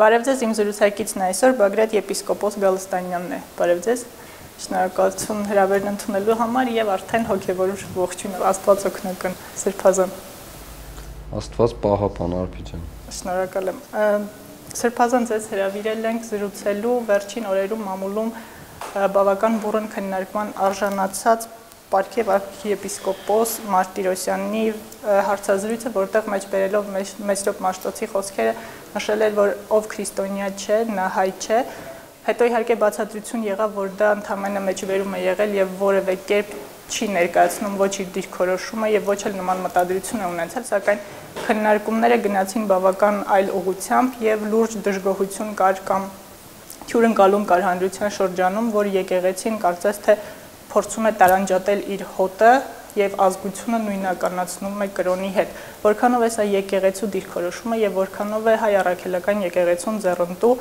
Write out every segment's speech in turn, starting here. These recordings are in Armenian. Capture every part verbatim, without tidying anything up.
Բարև ձեզ, իմ զրուցակիցն այսօր Բագրատ եպիսկոպոս Գալստանյանն է։ Բարև ձեզ։ Շնորհակալություն հրավերն ընդունելու համար եւ արդեն հոգեվոր ողջույն Աստված օգնական Սրբազան։ Աստված պահապան Արփիջան։ Շնորհակալ եմ։ Սրբազան ձեզ հրավիրել ենք զրուցելու վերջին օրերում մամուլում բավական բուռն քննարկման արժանացած Պարքև arczepiskopos Մարտիրոսյանի հարցազրույցը, որտեղ մեջ բերելով Մեսրոպ Մաշտոցի խոսքերը նշել էր, որ ով քրիստոնյա չէ, նա հայ չէ, հետո իհարկե բացատրություն եղավ, որ դա ընդհանրապես մեջբերում է եղել եւ որևէ կերպ չի ներկայացնում ոչ իր դիրքորոշումը եւ ոչ էլ նման մտադրություն է ունեցել, սակայն քննարկումները գնացին բավական այլ ուղղությամբ եւ լուրջ դժգոհություն կար կամ հյուրընկալում կար հանրության շրջանում, որ եկեղեցին կարծես թե փորձում է տարանջատել իր հոտը եւ ազգությունը նույնականացնում է կրոնի հետ։ Որքանով է սա եկեղեցու դիրքորոշումը եւ որքանով է հայ առաքելական եկեղեցուն ձեռնտու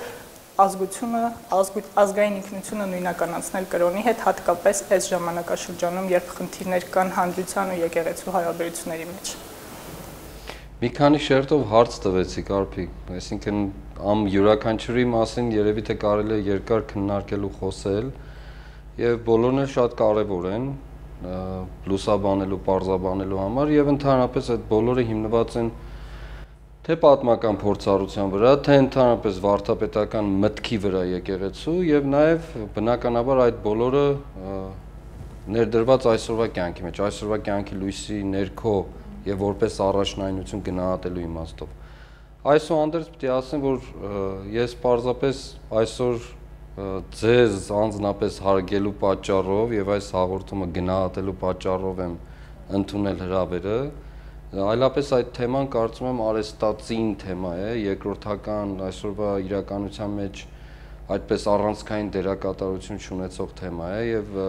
ազգությունը, ազգային ինքնությունը նույնականացնել կրոնի հետ, հատկապես այս ժամանակաշրջանում, երբ խնդիրներ կան հանրության ու եկեղեցու հարաբերությունների մեջ։ Մի քանի շերտով հարց տվեցիք Արփիկ, այսինքն ամ յուրաքանչյուրի մասին երևի թե կարելի է երկար քննարկել ու խոսել։ Եվ բոլորն էլ շատ կարևոր են լուսաբանելու, պարզաբանելու համար եւ ընդհանրապես այդ բոլորը հիմնված են թե պատմական փորձառության վրա, թե ընդհանրապես վարդապետական մտքի վրա եկեղեցու եւ նաեւ բնականաբար այդ բոլորը ներդրված այսօրվա կյանքի մեջ, այսօրվա կյանքի լույսի ներքո եւ որպես առաջնայնություն գնահատելու իմաստով։ Այսուհանդերձ պետք է ասեմ, որ ես պարզապես այսօր ձեզ անձնապես հարգելու պատճառով եւ այս հաղորդումը գնահատելու պատճառով եմ ընդունել հրավերը, այլապես այդ թեման կարծում եմ արեստացին թեմա է, երկրորդական այսօրվա իրականության մեջ այդպես առանցքային դերակատարություն ունեցող թեմա է եւ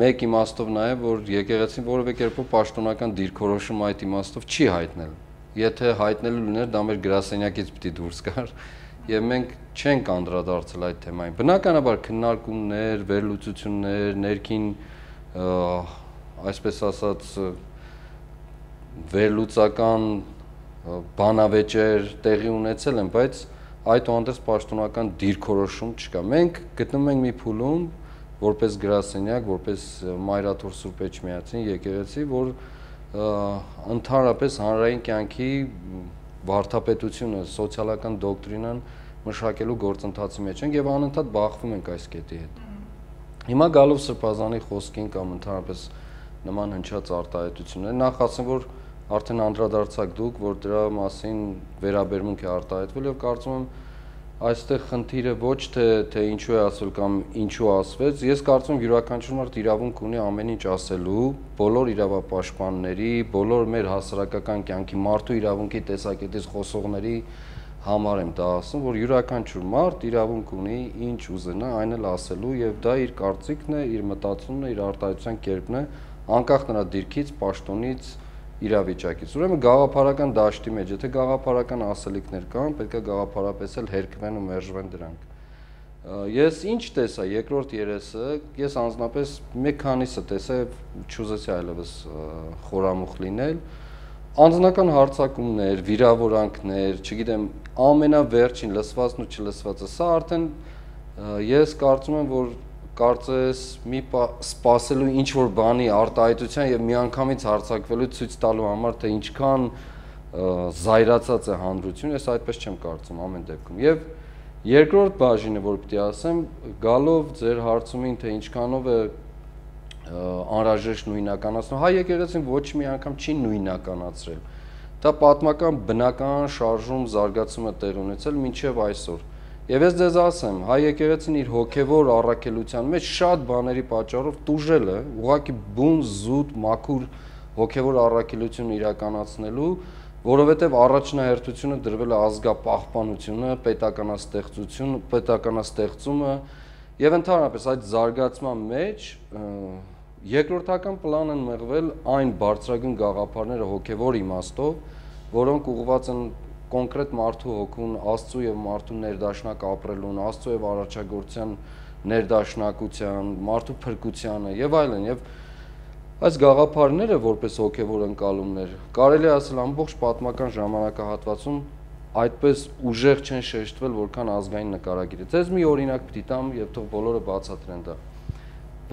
մեկ իմաստով նաեւ որ եկեղեցին որևէ կերպով պաշտոնական դիրքորոշում այդ իմաստով չի հայտնել։ Եթե հայտնելու լիներ, դա մեր գրասենյակից պիտի դուրս գար եւ մենք չենք անդրադարձել այդ թեմային։ Բնականաբար քննարկումներ, վերլուծություններ, ներքին այսպես ասած վերլուծական բանավեճեր տեղի ունեցել են, բայց այդուհանդերձ պաշտոնական դիրքորոշում չկա։ Մենք գտնվում ենք մի փուլում, որպես գրասենյակ, որպես Մայրաթոր Սուրբ Էջմիածին եկեղեցի, որ ընդհանրապես հանրային կյանքի վարդապետությունը, սոցիալական դոկտրինան մշակելու գործընթացի մեջ ենք եւ անընդհատ բախվում ենք այս կետի հետ։ Հիմա գալով Սրբազանի խոսքին կամ ընդհանրապես նման հնչած արտահայտություններ, նախ ասեմ, որ արդեն անդրադարձակ դուք, որ դրա մասին վերաբերմունք է արտահայտվել եւ կարծում եմ այստեղ խնդիրը ոչ թե թե ինչու է ասվել կամ ինչու ասվեց, ես կարծում եմ յուրաքանչյուր մարդ իրավունք ունի ամեն ինչ ասելու, բոլոր իրավապաշտպանների, բոլոր մեր հասարակական կյանքի մարդու իրավունքի տեսակետից խոսողների համար եմ դա ասում, որ յուրաքանչյուր մարդ իրավունք ունի ինչ ուզենա, այն էլ ասելու եւ դա իր կարծիքն է, իր մտածումն է, իր արտահայտության կերպն է, անկախ նրա դիրքից, պաշտոնից, իրավիճակից։ Ուրեմն գաղափարական դաշտի մեջ, եթե գաղափարական ասելիքներ կան, պետք է գաղափարապես էլ հերկվեն ու մերժվեն դրանք։ Ես ինչ տեսա երկրորդ երեսը, ես անձնապես մեկ քանիսը տեսա, չուզեցի այլևս խորամուխ լինել, անձնական հարձակումներ, վիրավորանքներ, չգիտեմ, ամենավերջին լսվածն ու չլսվածը, սա արդեն ես կարծում եմ, որ կարծես մի սպասելու ինչ-որ բանի արտահայտության եւ միանգամից հարձակվելու ցույց տալու համար, թե ինչքան զայրացած է հանրությունը, ես այդպես չեմ կարծում ամեն դեպքում։ Եվ երկրորդ բաժինը, որ պիտի ասեմ, գալով ձեր հարցումին, թե ինչքանով է անհրաժեշտ նույնականացնում, հայ եկեղեցին ոչ մի անգամ չի նույնականացրել։ Դա պատմական բնական շարժում, զարգացում է տեղ ունեցել մինչև այսօր։ Եվ ես ձեզ ասեմ, հայ եկեղեցին իր հոգևոր առաքելության մեջ շատ բաների պատճառով տուժել է, ուղղակի բուն, զուտ, մաքուր հոգևոր առաքելություն իրականացնելու, որովհետև առաջնահերթությունը դրվել է ազգապահպանությունը, պետականաստեղծությունը, պետականաստեղծումը եւ ընդհանրապես այդ զարգացման մեջ երկրորդական պլան են մղվել այն բարձրագույն գաղափարները հոգևոր իմաստով, որոնք ուղղված են կոնկրետ մարդու հոգուն, Աստծո եւ մարդու ներդաշնակ ապրելուն, Աստծո եւ արարչագործության ներդաշնակության, մարդու փրկությանը եւ այլն եւ այս գաղափարները որպես հոգևոր ընկալումներ կարելի է ասել ամբողջ պատմական ժամանակահատվածում այդպես ուժեղ չեն շեշտվել, որքան ազգային նկարագիրը։ Ձեզ մի օրինակ պիտի տամ եւ թող բոլորը բացատրեն դա։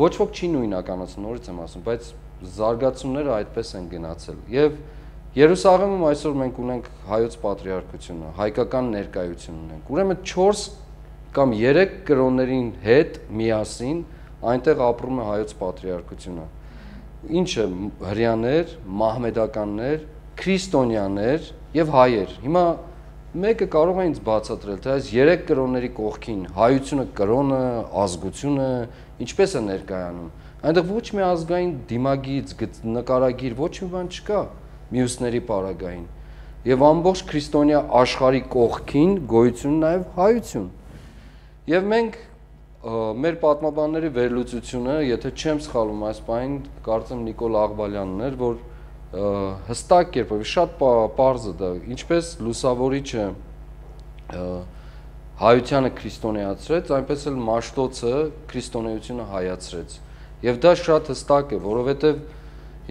Ոչ ոք չի նույնականացնում, նորից եմ ասում, բայց զարգացումները այդպես են գնացել։ Եվ Երուսաղեմում այսօր մենք ունենք հայոց պատրիարքությունը, հայկական ներկայություն ունենք։ Ուրեմն չորս կամ երեք կրոններին հետ միասին այնտեղ ապրում է հայոց պատրիարքությունը։ Ինչը հրեաներ, մահմեդականներ, քրիստոնյաներ եւ հայեր։ Հիմա մեկը կարող է ինձ բացատրել, թե այս երեք կրոնների կողքին հայությունը, կրոնը, ազգությունը ինչպես է ներկայանում։ Այնտեղ ոչ մի ազգային դիմագիծ, նկարագիր, ոչ մի բան չկա մյուսների պարագային։ Եվ ամբողջ քրիստոնյա աշխարհի կողքին գոյություն նաև հայություն։ Եվ մենք մեր պատմաբանների վերլուծությունը, եթե չեմ սխալվում այս պահին, կարծեմ Նիկոլ Աղբալյանն էր, որ հստակ կերպով շատ պարզ է դա, ինչպես լուսավորիչը հայությանը քրիստոնեացրեց, այնպես էլ Մաշտոցը քրիստոնեությունը հայացրեց։ Եվ դա շատ հստակ է, որովհետև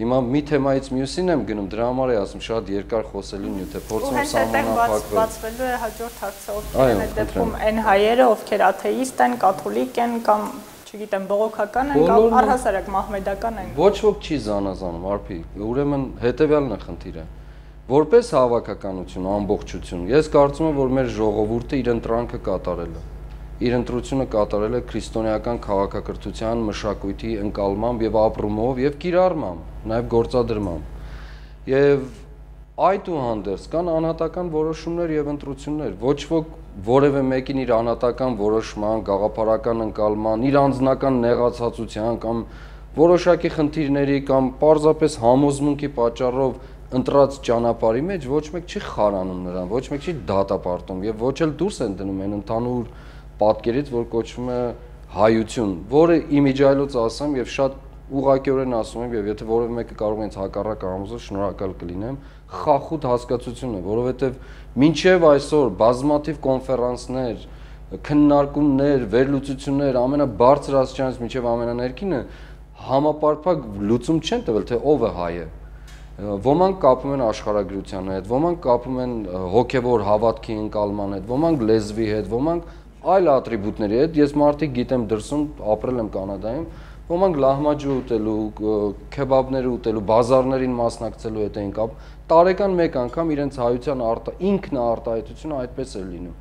հիմա մի թեմայից մյուսին եմ գնում, դրա համար է ասում շատ երկար խոսելու նյութ է, փորձում եմ սահմանափակվել։ Բացվելու է հաջորդ հարցը, ովքեր են այդ դեպքում այն հայերը, ովքեր աթեիստ են, կաթոլիկ են կամ չգիտեմ, բողոքական են կամ առհասարակ մահմեդական են։ Ոչ ոք չի զանազանում, արփի, ուրեմն հետևյալն է խնդիրը։ Որպես հավաքականություն, ամբողջություն, ես կարծում եմ, որ մեր ժողովուրդը իր ընտրանքը կատարել է։ Իր ընտրությունը կատարել է քրիստոնեական քաղաքակրթության, մշակույթի ընկալմամբ եւ ապրումով եւ կիրառմամբ, նաեւ գործադրմամբ։ Եվ այդուհանդերձ կան անհատական որոշումներ եւ ընտրություններ։ Ոչ ոք որևէ մեկին իր անհատական որոշման, գաղափարական ընկալման, իր անձնական նեղացածության կամ որոշակի խնդիրների կամ պարզապես համոզմունքի պատճառով ընտրած ճանապարհի մեջ ոչ մեկ չի խարանում նրան, ոչ մեկ չի դատապարտում եւ ոչ էլ դուրս են դնում այն ընդհանուր պատկերից, որ կոչվում է հայություն, որը իմիջայլոց ասեմ եւ շատ ուղղակիորեն ասում եմ եւ եթե որևէ մեկը կարող է ինձ հակառակ համոզել, շնորհակալ կլինեմ, խախուտ հասկացություն է, որովհետեւ մինչեւ այսօր բազմաթիվ կոնֆերանսներ, քննարկումներ, վերլուծություններ, ամենաբարձր աստիճանից մինչեւ ամենաներկինը համապարփակ լուծում չեն տվել, թե ով է հայը։ Ոմանք կապում են աշխարհագրության հետ, ոմանք կապում են հոգևոր հավատքի ընկալման հետ, ոմանք լեզվի հետ, ոմանք այլ ատրիբուտների հետ։ Ես մարդիկ գիտեմ դրսում, ապրել եմ Կանադայում, ոմանք լահմաջու ուտելու, քեբաբներ ուտելու, բազարներին մասնակցելու հետ էին կապ։ Տարեկան մեկ անգամ իրենց հայության արտա ինքնաարտահայտությունը այդպես է լինում։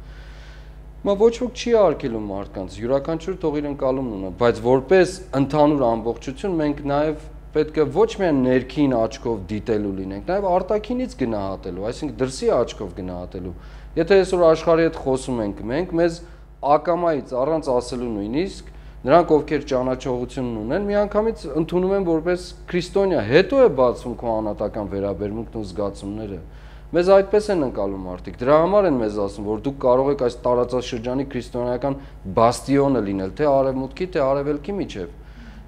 Մա ոչ ոք չի արգելում մարդկանց, յուրաքանչյուր թող իր ընկալումն ունենա, բայց որպես ընդհանուր ամբողջություն մենք նաև պետք է ոչ միայն ներքին աչքով դիտելու լինենք, նաև արտաքինից գնահատելու, այսինքն դրսի աչքով գնահատելու։ Եթե այսօր աշխարհի հետ խոսում ենք մենք, մեզ ակամայից առանց ասելու նույնիսկ նրանք ովքեր ճանաչողություն ունեն, միանգամից ընդունում են որպես քրիստոնյա, հետո է բացվում քո անհատական վերաբերմունքն ու զգացումները։ Մեզ այդպես են ընկալում մարդիկ, դրա համար են մեզ ասում, որ դուք կարող եք այս տարածաշրջանի քրիստոնեական բաստիոնը լինել, թե արևմուտքի, թե արևելքի միջև։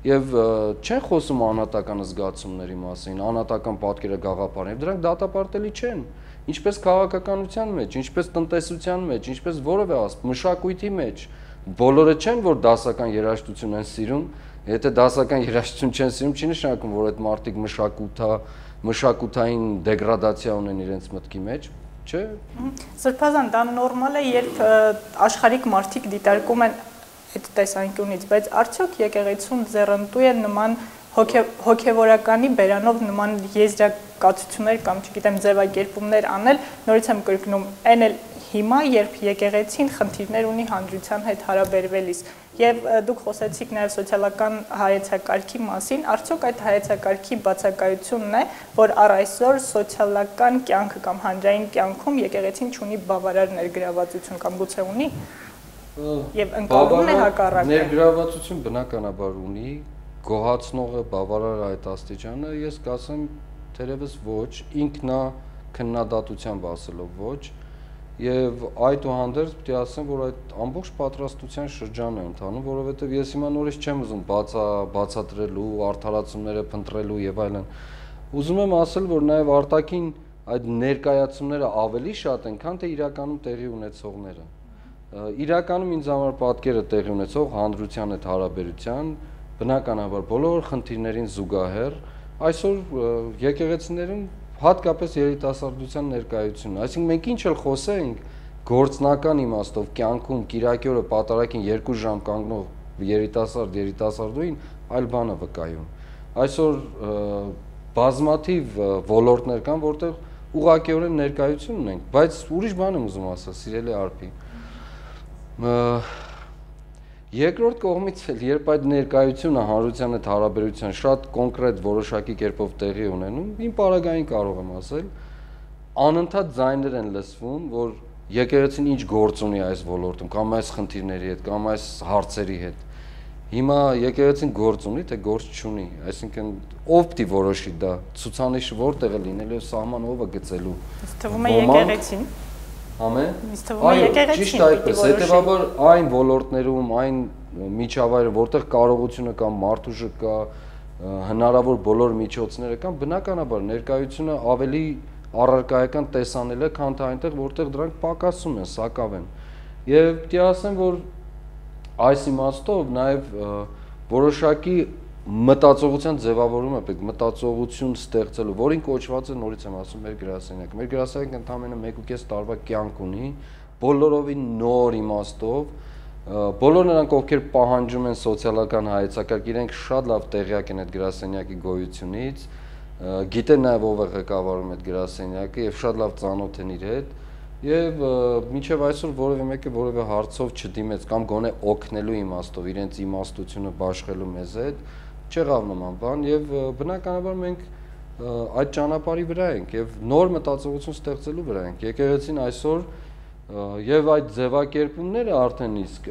Եվ չեն խոսում անհատական զգացումների մասին, անհատական պատկերագաղափարների, դրանք դատապարտելի չեն։ Ինչպես քաղաքականության մեջ, ինչպես տնտեսության մեջ, ինչպես որևէ ասп, մշակույթի մեջ, բոլորը չեն, որ դասական երաժշտություն են սիրում, եթե դասական երաժշտություն չեն սիրում, չի նշանակում, որ այդ մարդիկ մշակութա, մշակութային դեգրադացիա ունեն իրենց մտքի մեջ, չէ՞։ Սրբազան, դա նորմալ է, երբ աշխարհիկ մարդիկ դիտարկում են այդ տեսանկյունից, բայց արդյոք եկեղեցուն ձեռնտու է նման հոգևորականի բերանով նման եզրակացություններ կամ չգիտեմ ձևակերպումներ անել, նորից եմ կրկնում, այն էլ հիմա, երբ եկեղեցին խնդիրներ ունի հանրության հետ հարաբերվելիս, եւ դուք խոսեցիք նաեւ սոցիալական հայեցակարգի մասին, արդյոք այդ հայեցակարգի բացակայությունն է, որ առ այսօր սոցիալական կյանքը կամ հանրային կյանքում եկեղեցին չունի բավարար ներգրավվածություն կամ գուցե ունի։ Եվ ընկալումն է հակառակը։ Ներգրավվածություն բնականաբար ունի, գոհացնողը բավարար այդ աստիճանը, ես կասեմ թերևս ոչ, ինքնա քննադատությամբ ասելով ոչ, եւ այդուհանդերձ պետք է ասեմ, որ այդ ամբողջ պատրաստության շրջան է ընթանում, որովհետեւ ես հիմա նորից չեմ ուզում բացա բացատրելու, արդարացումները փնտրելու եւ այլն։ Ուզում եմ ասել, որ նաեւ արտաքին այդ ներկայացումները ավելի շատ են, քան թե իրականում տեղի ունեցողները։ Իրականում ինձ համար պատկերը տեղի ունեցող հանրության հետ հարաբերության, բնականաբար բոլոր խնդիրներին զուգահեռ այսօր եկեղեցիներում հատկապես երիտասարդության ներկայությունը։ Այսինքն մենք ինչ էլ խոսենք, գործնական իմաստով կյանքում կիրակի օրը պատարագին երկու ժամ կանգնող երիտասարդ երիտասարդուին այլ բան է վկայում։ Այսօր բազմաթիվ ոլորտներ կան, որտեղ ուղղակիորեն ներկայություն ունենք, բայց ուրիշ բան եմ ուզում ասել, սիրելի Արփի։ Երկրորդ կողմից էլ, երբ այդ ներկայությունը հանրության հետ հարաբերության շատ կոնկրետ որոշակի կերպով տեղի ունենում, իմ պարագային կարող եմ ասել, անընդհատ ձայներ են լսվում, որ եկեղեցին ինչ գործ ունի այս ոլորտում, կամ այս խնդիրների հետ, կամ այս հարցերի հետ։ Հիմա եկեղեցին գործ ունի, թե գործ չունի, այսինքն ով պիտի որոշի դա, ցուցանիշը որտեղ է լինելու, սահման ով է գծելու։ Թվում է եկեղեցին։ Ամեն։ Այո, ճիշտ այդպես, հետևաբար այն ոլորտներում, այն միջավայրը, որտեղ կարողությունը կա, մարդուժը կա, հնարավոր բոլոր միջոցները կան, բնականաբար ներկայությունը ավելի առարկայական տեսանել է, քան թե այնտեղ, որտեղ դրանք պակասում են, սակավ են։ Եվ պիտի ասեմ, որ այս իմաստով նաև որոշակի մտածողության ձևավորում է պետք, մտածողություն ստեղծելու, որին կոչված է, նորից եմ ասում, մեր գրասենյակը։ Մեր գրասենյակը ընդամենը մեկ ու կես տարվա կյանք ունի, բոլորովին նոր իմաստով, բոլոր նրանք, ովքեր պահանջում են սոցիալական հայեցակարգ, իրենք շատ լավ տեղյակ են այդ գրասենյակի գոյությունից, գիտեն նաև ով է ղեկավարում այդ գրասենյակը եւ շատ լավ ծանոթ են իր հետ, եւ մինչեւ այսօր որևէ մեկը որևէ հարցով չդիմեց կամ գոնե օգնելու իմաստով, իրենց իմաստությունը բաշխելու մեզ հետ, չեղավ նման բան եւ բնականաբար մենք այդ ճանապարհի վրա ենք եւ նոր մտածողություն ստեղծելու վրա ենք։ Եկեղեցին այսօր եւ այդ ձևակերպումները արդեն իսկ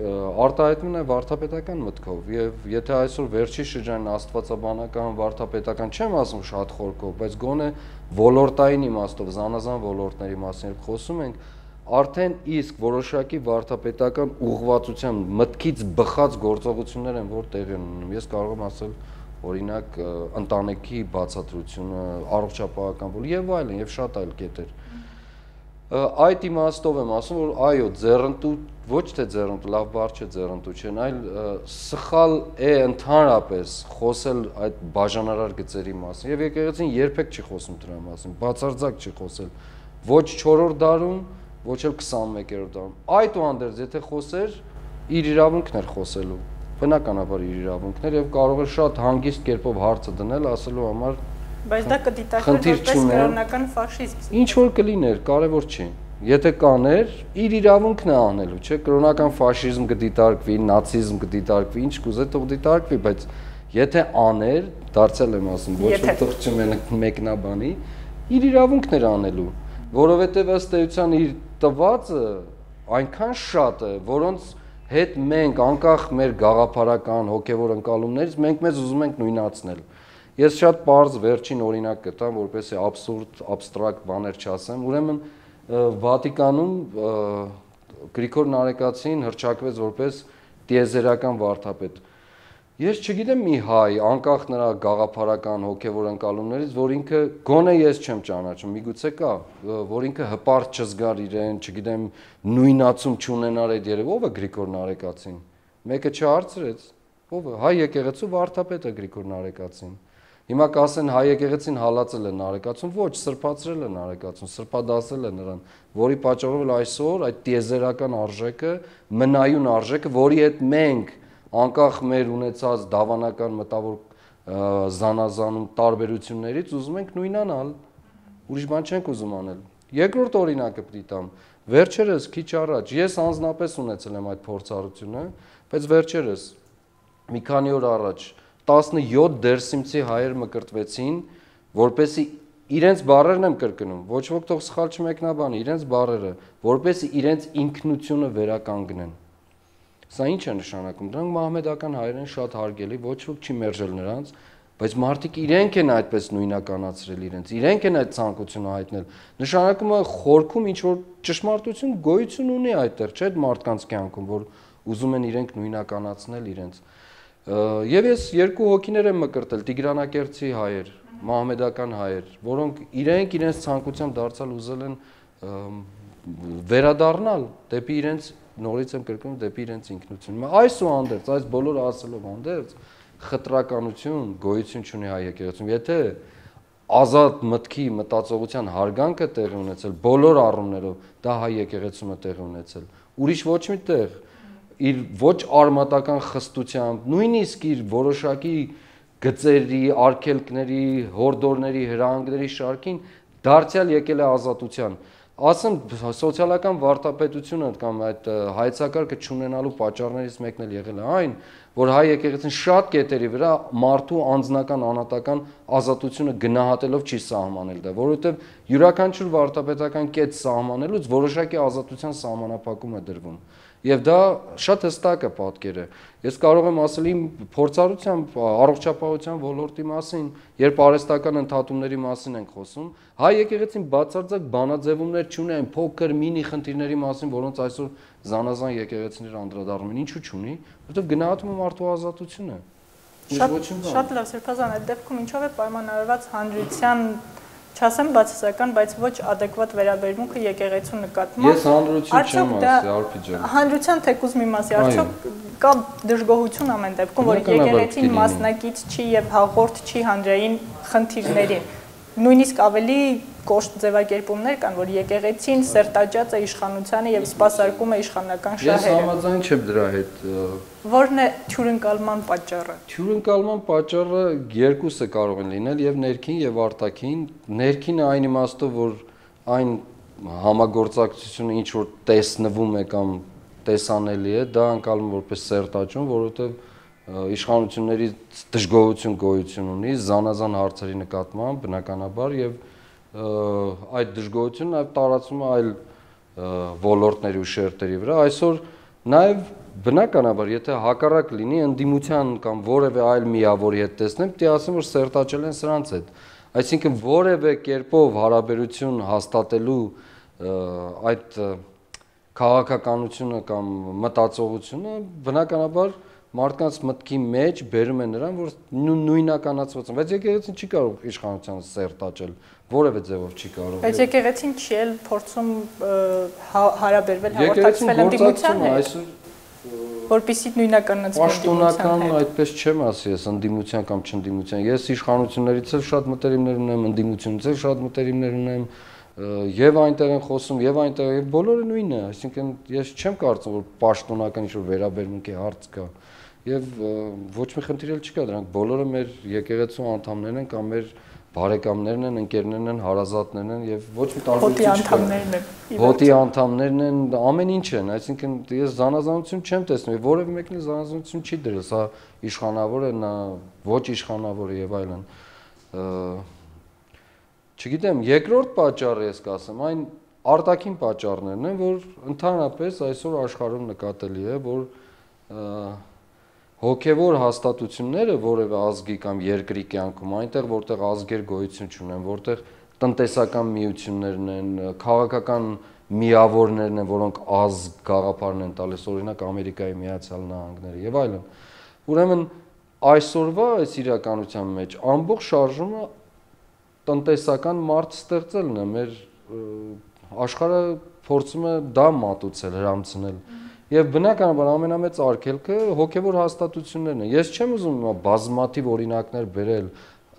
արտահայտվում է վարդապետական մտքով եւ եթե այսօր վերջի շրջանին աստվածաբանական վարդապետական չեմ ասում շատ խորքով, բայց գոնե ոլորտային իմաստով, զանազան ոլորտների մասին խոսում ենք, արդեն իսկ որոշակի վարդապետական ուղղվածության մտքից բխած գործողություններ են, որ տեղի են ունենում։ Ես կարող եմ ասել օրինակ ընտանիքի բացատրությունը, առողջապահական ոլորտ եւ այլն եւ շատ այլ կետեր։ Այդ իմաստով եմ ասում, որ այո, ձեռնտու, ոչ թե ձեռնտու, լավ բառ չէ ձեռնտու չեն, այլ սխալ է ընդհանրապես խոսել այդ բաժանարար գծերի մասին եւ եկեղեցին երբեք չի խոսում դրա մասին, բացարձակ չի խոսել ոչ չորրորդ դարում, ոչ էլ քսանմեկերորդ դարում։ Այդուհանդերձ, եթե խոսեր, իր իրավունքն էր խոսելու, բնականաբար իր իրավունքն էր եւ կարող էր շատ հանգիստ կերպով հարցը դնել, ասելու համար Բայց դա կդիտարկվեր որպես կրոնական ֆաշիզմ։ Ինչ որ կլիներ, կարևոր չի։ Եթե կաներ, իր իրավունքն է անելու, չէ՞, կրոնական ֆաշիզմ կդիտարկվի, նացիզմ կդիտարկվի, ինչ կուզե թող դիտարկվի, բայց եթե աներ, դարձել եմ ասում, ոչ ոք թողում են մեկնաբանի, իր իրավունքն էր անելու, որովհետև ըստ էության իր տվածը այնքան շատ է, որոնց հետ մենք անկախ մեր գաղափարական հոգևոր ընկալումներից մենք մեզ ուզում ենք նույնացնել։ Ես շատ պարզ վերջին օրինակ կտամ, որպեսզի աբսուրդ, աբստրակտ բաներ չասեմ, ուրեմն Վատիկանում Գրիգոր Նարեկացին հռչակվեց որպես տիեզերական վարդապետ։ Ես չգիտեմ մի հայ, անկախ նրա գաղափարական հոգևոր ընկալումներից, որ ինքը գոնե ես չեմ ճանաչում, միգուցե կա, որ ինքը հպարտ չզգար իրեն, չգիտեմ, նույնացում չունենար այդ երևը, ով է Գրիգոր Նարեկացին։ Մեկը չհարցրեց, ով է, հայ եկեղեցու վարդապետը Գրիգոր Նարեկացին։ Հիմա կասեն հայ եկեղեցին հալածել է Նարեկացուն, ոչ, սրբացրել է Նարեկացուն, սրբադասել է նրան, որի պատճառով էլ այսօր այդ տիեզերական արժեքը, մնայուն արժեքը, որի հետ մենք անկախ մեր ունեցած դավանական մտավոր զանազանում տարբերություններից ուզում ենք նույնանալ, ուրիշ բան չենք ուզում անել։ Երկրորդ օրինակը պիտի տամ, վերջերս քիչ առաջ, ես անձնապես ունեցել եմ այդ փորձառությունը, բայց վերջերս մի քանի օր առաջ տասնյոթ դերսիմցի հայեր մկրտվեցին, որպեսզի իրենց բառերն եմ կրկնում, ոչ ոք թող սխալ չմեկնաբանի, իրենց բառերը, որպեսզի իրենց ինքնությունը վերականգնեն։ Սա ինչ է նշանակում։ Դրանք մահմեդական հայեր են, շատ հարգելի, ոչ ոք չի մերժել նրանց, բայց մարդիկ իրենք են այդպես նույնականացրել իրենց, իրենք են այդ ցանկությունը հայտնել։ Նշանակում է խորքում ինչ որ ճշմարտություն գոյություն ունի այդտեղ, չէ՞, այդ մարդկանց կյանքում, որ ուզում են իրենք նույնականացնել իրենց։ Եվ ես երկու հոգիներ եմ մկրտել, Տիգրանակերտցի հայեր, մահմեդական հայեր, որոնք իրենք իրենց ցանկությամբ դարձալ ուզել են վերադառնալ դեպի իրենց, նորից եմ կրկնում, դեպի իրենց ինքնությունը։ Այսուհանդերձ, այս բոլորը ասելով հանդերձ, խտրականություն գոյություն չունի հայ եկեղեցում։ Եթե ազատ մտքի մտածողության հարգանքը տեղի ունեցել բոլոր առումներով, դա հայ եկեղեցում է տեղի ունեցել։ Ուրիշ ոչ մի տեղ իր ոչ արմատական խստությամբ, նույնիսկ իր որոշակի գծերի, արգելքների, հորդորների, հրահանգների շարքին դարձյալ եկել է ազատության։ Ասեմ, սոցիալական վարդապետությունը կամ այդ հայեցակարգը չունենալու պատճառներից մեկն էլ եղել է այն, որ հայ եկեղեցին շատ կետերի վրա մարդու անձնական անհատական ազատությունը գնահատելով չի սահմանել դա, որովհետև յուրաքանչյուր վարդապետական կետ սահմանելուց որոշակի ազատության սահմանափակում է դրվում։ Եվ դա շատ հստակ է պատկերը։ Ես կարող եմ ասել իմ փորձառությամբ առողջապահության ոլորտի մասին, երբ արհեստական ընդհատումների մասին ենք խոսում, հայ եկեղեցին բացարձակ բանաձևումներ չունի այն փոքր մինի խնդիրների մասին, որոնց այսօր զանազան եկեղեցիներ անդրադառնում են, ինչու չունի, որովհետև գնահատում է մարդու ազատությունը։ Շատ լավ, Սրբազան, այդ դեպքում ինչով է պայմանավորված հանրության, չասեմ բացասական, բայց ոչ ադեկվատ վերաբերմունքը եկեղեցու նկատմամբ։ Ես հանրություն չեմ ասի, Արփի ջան։ Հանրության թեկուզ մի մասի, արդյոք կա դժգոհություն ամեն դեպքում, որ եկեղեցին մասնակից չի եւ հաղորդ չի հանրային խնդիրներին։ Նույնիսկ ավելի կոշտ ձևակերպումներ կան, որ եկեղեցին սերտաճած է իշխանությանը եւ սպասարկում է իշխանական շահերը։ Ես համաձայն չեմ դրա հետ։ Որն է թյուրընկալման պատճառը։ Թյուրընկալման պատճառը երկուսը կարող են լինել, եւ ներքին եւ արտաքին։ Ներքինը այն իմաստով, որ այն համագործակցությունը ինչ որ տեսնվում է կամ տեսանելի է, դա անցալում որպես սերտաճում, որովհետեւ իշխանությունների դժգոհություն գոյություն ունի զանազան հարցերի նկատմամբ բնականաբար եւ այդ դժգոհությունը նաեւ տարածվում է այլ ոլորտների ու շերտերի վրա այսօր նաեւ բնականաբար եթե հակառակ լինի ընդդիմության կամ որևէ այլ միավորի հետ տեսնեմ դե ասեմ որ սերտաճել են սրանց հետ այսինքն որևէ կերպով հարաբերություն հաստատելու այդ քաղաքականությունը կամ մտածողությունը բնականաբար մարդկանց մտքի մեջ բերում է նրան, որ նույնականացված են, բայց եկեղեցին չի կարող իշխանությանը սերտաճել, որևէ ձևով չի կարող։ Բայց եկեղեցին չի էլ փորձում հարաբերվել, հաղորդակցվել ընդդիմության հետ, որպեսզի նույնականացվի պաշտոնական այդպես չեմ ասի, ես ընդդիմության կամ չընդդիմության, ես իշխանություններից էլ շատ մտերիմներ ունեմ, ընդդիմությունից էլ շատ մտերիմներ ունեմ, եւ այնտեղ են խոսում, եւ այնտեղ եւ բոլորը նույնն է, այսինքն ես չեմ կարծում, որ պաշտոնական ինչ-որ վերաբերմունքի հարց կա։ Եվ ոչ մի խնդիր էլ չկա, դրանք բոլորը մեր եկեղեցու անդամներն են կամ մեր բարեկամներն են, ընկերներն են, հարազատներն են եւ ոչ մի տարբերություն չկա։ Հոտի անդամներն են, ամեն ինչ են, այսինքն ես զանազանություն չեմ տեսնում, որևէ մեկն էլ զանազանություն չի դրել, սա իշխանավոր է, նա ոչ իշխանավոր է եւ այլն։ Չգիտեմ, երկրորդ պատճառը ես կասեմ, այն արտաքին պատճառներն են, որ ընդհանրապես այսօր աշխարհում նկատելի է, որ հոգևոր հաստատությունները որևէ ազգի կամ երկրի կյանքում, այնտեղ որտեղ ազգեր գոյություն չունեն, որտեղ տնտեսական միություններն են, քաղաքական միավորներն են, որոնք ազգ գաղափարն են տալիս, օրինակ Ամերիկայի Միացյալ Նահանգները եւ այլն։ Ուրեմն այսօրվա այս իրականության մեջ ամբողջ շարժումը տնտեսական մարդ ստեղծելն է, մեր աշխարհը փորձում է դա մատուցել, հրամցնել։ Եվ բնականաբար ամենամեծ արգելքը հոգևոր հաստատություններն են։ Ես չեմ ուզում բազմաթիվ օրինակներ բերել,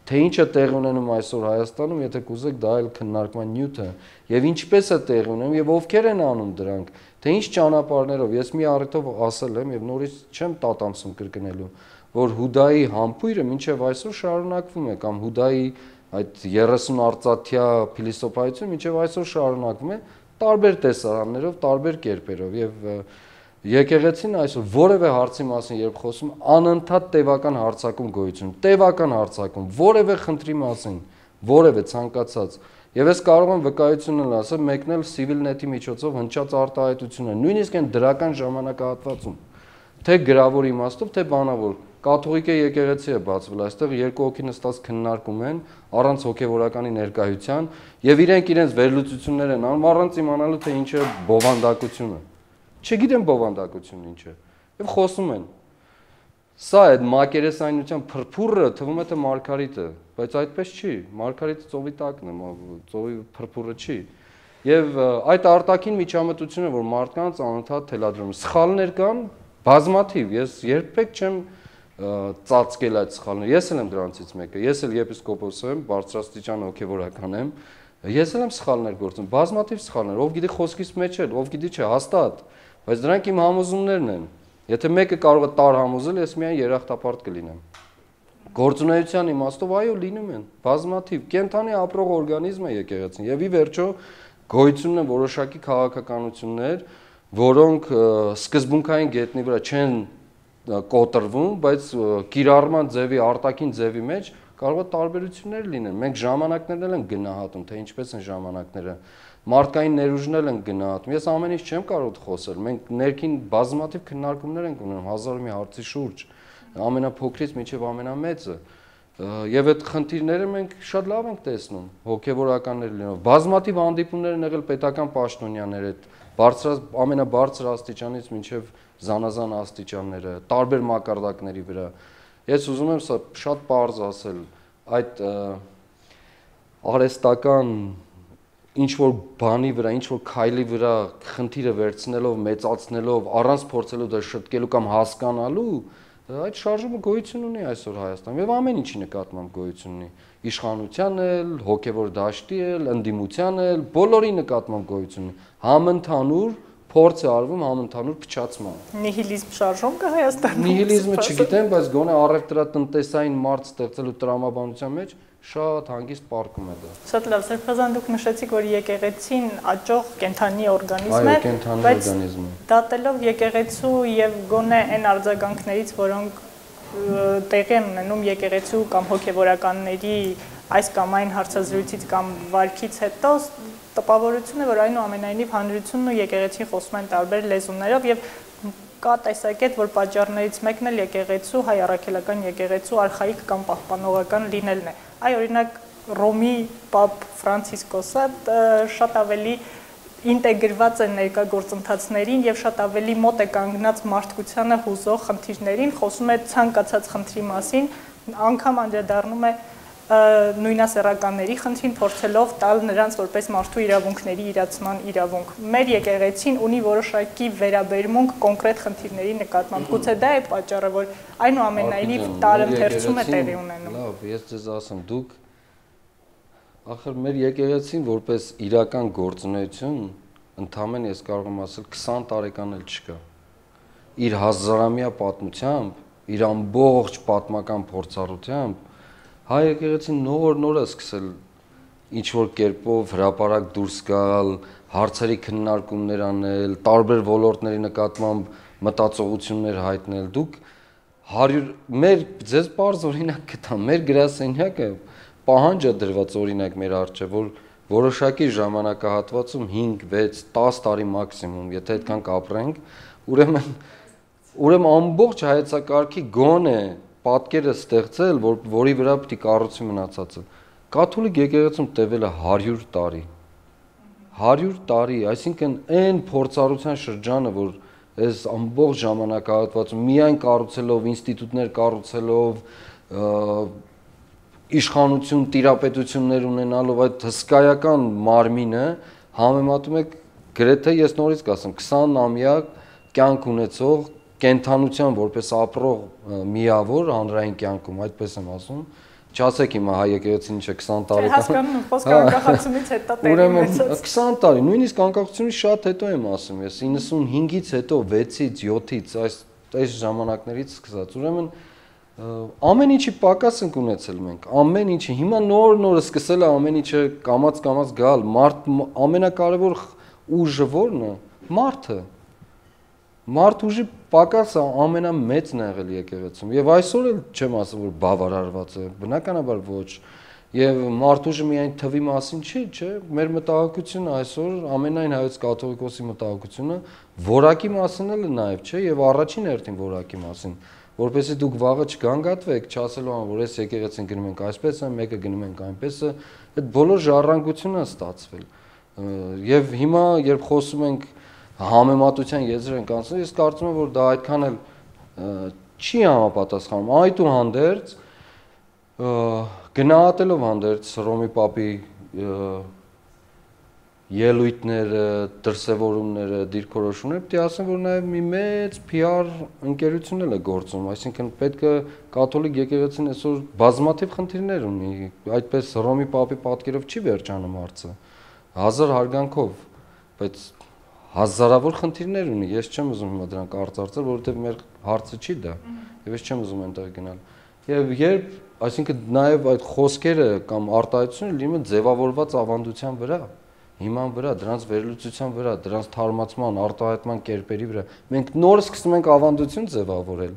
թե ինչ է տեղի ունենում այսօր Հայաստանում, եթե կուզեք դա էլ քննարկման նյութ է, եւ ինչպես է տեղի ունենում եւ ովքեր են անում դրանք, թե ինչ ճանապարհներով։ Ես մի առիթով ասել եմ եւ նորից չեմ տատամսում կրկնելու, որ Հուդայի համբույրը մինչեւ այսօր շարունակվում է կամ Հուդայի այդ երեսուն արծաթյա փիլիսոփայությունը մինչեւ այսօր շարունակվում է տարբեր տեսարաններով, տարբեր կերպերով եւ եկեղեցին այսօր որևէ հարցի մասին երբ խոսում անընդհատ տևական հարցակում գոյություն, տևական հարցակում, որևէ խնդրի մասին, որևէ ցանկացած եւ ես կարող եմ վկայություն ասել, մեկն էլ Civilnet-ի միջոցով հնչած արտահայտություն է, նույնիսկ այն դրական ժամանակահատվածում, թե գրավոր իմաստով, թե բանավոր կաթողիկե եկեղեցի է բացվել, այստեղ երկու հոգի նստած քննարկում են առանց հոգևորականի ներկայության եւ իրենք իրենց վերլուծություններ են անում առանց իմանալու թե ինչ է բովանդակությունը։ Չգիտեմ բովանդակությունն ինչ է եւ խոսում են։ Սա այդ մակերեսայնության փրփուրը թվում է թե Մարգարիտ է, բայց այդպես չի։ Մարգարիտը ծովի տակն է, ծովի փրփուրը չի։ Եվ այդ արտաքին միջամտությունը, որ մարդկանց անընդհատ թելադրում, սխալներ կան բազմաթիվ։ Ես երբեք չեմ ծածկել այդ սխալները։ Ես էլ եմ դրանցից մեկը։ Ես էլ եպիսկոպոս եմ, բարձրաստիճան հոգևորական եմ։ Ես էլ եմ սխալներ գործում, բազմաթիվ սխալներ, ով գիտի խոսքից մեջ էլ, ով գիտի չէ, հաստատ, բայց դրանք իմ համոզումներն են։ Եթե մեկը կարող է տար համոզել, ես միայն երախտապարտ կլինեմ։ Գործունեության իմաստով այո լինում են, բազմաթիվ, կենդանի ապրող օրգանիզմ է եկեղեցին, եւ ի վերջո գոյություն են որոշակի քաղաքականություններ, որոնք սկզբունքային գետնի վրա չեն կոտրվում, բայց կիրառման ձևի, արտաքին ձևի մեջ կարող է տարբերություններ լինեն։ Մենք ժամանակներն էլ ենք գնահատում, թե ինչպես են ժամանակները, մարդկային ներուժն էլ ենք գնահատում։ Ես ամեն ինչ չեմ կարող խոսել։ Մենք ներքին բազմաթիվ քննարկումներ ենք ունենում հազար ու մի հարցի շուրջ, ամենափոքրից մինչև ամենամեծը։ Եվ այդ խնդիրները մենք շատ լավ ենք տեսնում, հոգևորականներ լինելով։ Բազմաթիվ հանդիպումներ են եղել պետական պաշտոնյաներ հետ, բարձր ամենաբարձր աստիճանից մինչև զանազան աստիճանները, տարբեր մակարդակների վրա։ Ես ուզում եմ սա շատ պարզ ասել, այդ արհեստական ինչ-որ բանի վրա, ինչ-որ քայլի վրա խնդիրը վերցնելով, մեծացնելով, առանց փորձելու դա շտկելու կամ հասկանալու, այդ շարժումը գոյություն ունի այսօր Հայաստանում եւ ամեն ինչի նկատմամբ գոյություն ունի, իշխանության էլ, հոգեվոր դաշտի էլ, ընդդիմության էլ, բոլորի նկատմամբ գոյություն ունի, համընդհանուր փորձ է արվում համընդհանուր փչացման։ Նիհիլիզմ շարժում կա Հայաստանում։ Նիհիլիզմը չգիտեմ, բայց գոնե առևտրատնտեսային մարդ ստեղծելու տրամաբանության մեջ շատ հանգիստ պարկում է դա։ Շատ լավ, Սրբազան, դուք նշեցիք, որ եկեղեցին աճող կենդանի օրգանիզմ է, այո, կենդանի օրգանիզմ է։ Դատելով եկեղեցու եւ գոնե այն արձագանքներից, որոնք տեղի են ունենում եկեղեցու կամ հոգեվորականների այս կամ այն հարցազրույցից կամ վարքից հետո, տպավորություն է, որ այնուամենայնիվ հանրությունն ու եկեղեցին խոսում են տարբեր լեզուներով եւ կա տեսակետ, որ պատճառներից մեկն էլ եկեղեցու, հայ առաքելական եկեղեցու արխայիկ կամ պահպանողական լինելն է։ Այ օրինակ Ռոմի Պապ Ֆրանցիսկոսը շատ ավելի ինտեգրված է ներկա գործընթացներին եւ շատ ավելի մոտ է կանգնած մարդկությանը հուզող խնդիրներին, խոսում է ցանկացած խնդրի մասին, անգամ անդրադառնում է նույնասեռականների խնդրին, փորձելով տալ նրանց որպես մարդու իրավունքների իրացման իրավունք։ Մեր եկեղեցին ունի որոշակի վերաբերմունք կոնկրետ խնդիրների նկատմամբ։ Գուցե դա է պատճառը, որ այնուամենայնիվ տարընթերցում է տեղի ունենում։ Լավ, ես ձեզ ասեմ, դուք ախր մեր եկեղեցին որպես իրական գործունեություն, ընդամենը ես կարող եմ ասել քսան տարեկան էլ չկա։ Իր հազարամյա պատմությամբ, իր ամբողջ պատմական փորձառությամբ հայ եկեղեցին նոր-նոր է սկսել ինչ-որ կերպով հրապարակ դուրս գալ, հարցերի քննարկումներ անել, տարբեր ոլորտների նկատմամբ մտածողություններ հայտնել։ Դուք հարյուր մեր ձեզ պարզ օրինակ կտամ, մեր գրասենյակը պահանջ է դրված օրինակ մեր առջև, որ որոշակի ժամանակահատվածում հինգ, վեց, տաս տարի մաքսիմում, եթե այդքան կապրենք, ուրեմն ուրեմն ամբողջ հայեցակարգի գոնե պատկերը ստեղծել, որ որի վրա պետք է կառուցի մնացածը։ Կաթոլիկ եկեղեցում տևել է հարյուր տարի։ հարյուր տարի, այսինքն այն փորձառության շրջանը, որ այս ամբողջ ժամանակահատվածում միայն կառուցելով, ինստիտուտներ կառուցելով, իշխանություն, տիրապետություններ ունենալով այդ հսկայական մարմինը համեմատում եք գրեթե ես նորից կասեմ քսան-ամյա կյանք ունեցող կենթանության որպես ապրող միավոր հանրային կյանքում, այդպես եմ ասում, չասեք հիմա հայ եկեղեցին ինչ է քսան տարեկան։ Հասկանում, խոսքը անկախացումից հետո տեղի ունեցած։ քսան տարի, նույնիսկ անկախությունից շատ հետո եմ ասում ես, իննսունհինգից հետո, վեցից, յոթից, այս այս ժամանակներից սկսած։ Ուրեմն ամեն ինչի պակաս ենք ունեցել մենք, ամեն ինչի։ Հիմա նոր-նորը սկսել է ամեն ինչը կամաց-կամաց գալ, մարդ ամենակարևոր ուժը ո՞րն է։ Մարդը։ Մարդ ուժի պակասը ամենամեծն է եղել եկեղեցում եւ այսօր էլ չեմ ասում որ բավարարված է, բնականաբար ոչ։ Եվ մարդ ուժը միայն թվի մասին չի, չէ, մեր մտահոգությունը այսօր ամենայն հայոց կաթողիկոսի մտահոգությունը որակի մասին էլ է նաեւ, չէ, եւ առաջին հերթին որակի մասին, որպեսզի դուք վաղը չգանգատվեք, չասելով ան որ այս եկեղեցին գնում ենք այսպես է, մեկը գնում ենք այնպես է, այդ բոլոր ժառանգությունը ստացվել։ Եվ հիմա երբ խոսում ենք համեմատության եզր ենք անցնում, ես կարծում եմ, որ դա այդքան էլ չի համապատասխանում։ Այդուհանդերձ գնահատելով հանդերձ Հռոմի Պապի ելույթները, դրսևորումները, դիրքորոշումները պետք է ասեմ, որ նաև մի մեծ P R ընկերություն էլ է գործում, այսինքն պետք է կաթոլիկ եկեղեցին այսօր բազմաթիվ խնդիրներ ունի, այդպես Հռոմի Պապի պատկերով չի վերջանում հարցը, հազար հարգանքով, բայց հազարավոր խնդիրներ ունի, ես չեմ ուզում հիմա դրանք արծարծել, որովհետև մեր հարցը չի դա, եւ ես չեմ ուզում այնտեղ գնալ։ Եվ երբ, այսինքն նաև այդ խոսքերը կամ արտահայտությունը լինում է ձևավորված ավանդության վրա, հիման վրա, դրանց վերլուծության վրա, դրանց թարմացման, արտահայտման կերպերի վրա, մենք նոր սկսում ենք ավանդություն ձևավորել,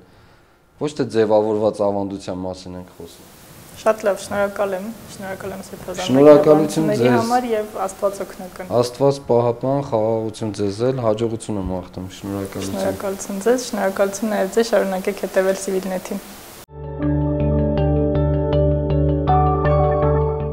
ոչ թե ձևավորված ավանդության մասին ենք խոսում։ Շատ լավ, շնորհակալ եմ, շնորհակալ եմ Սրբազան Շնորհակալություն ձեզ համար եւ Աստված օգնական։ Աստված պահապան, խաղաղություն ձեզ էլ, հաջողություն եմ մաղթում, շնորհակալություն։ Շնորհակալություն ձեզ, շնորհակալություն նաեւ ձեզ, շարունակեք հետեւել Civilnet-ին։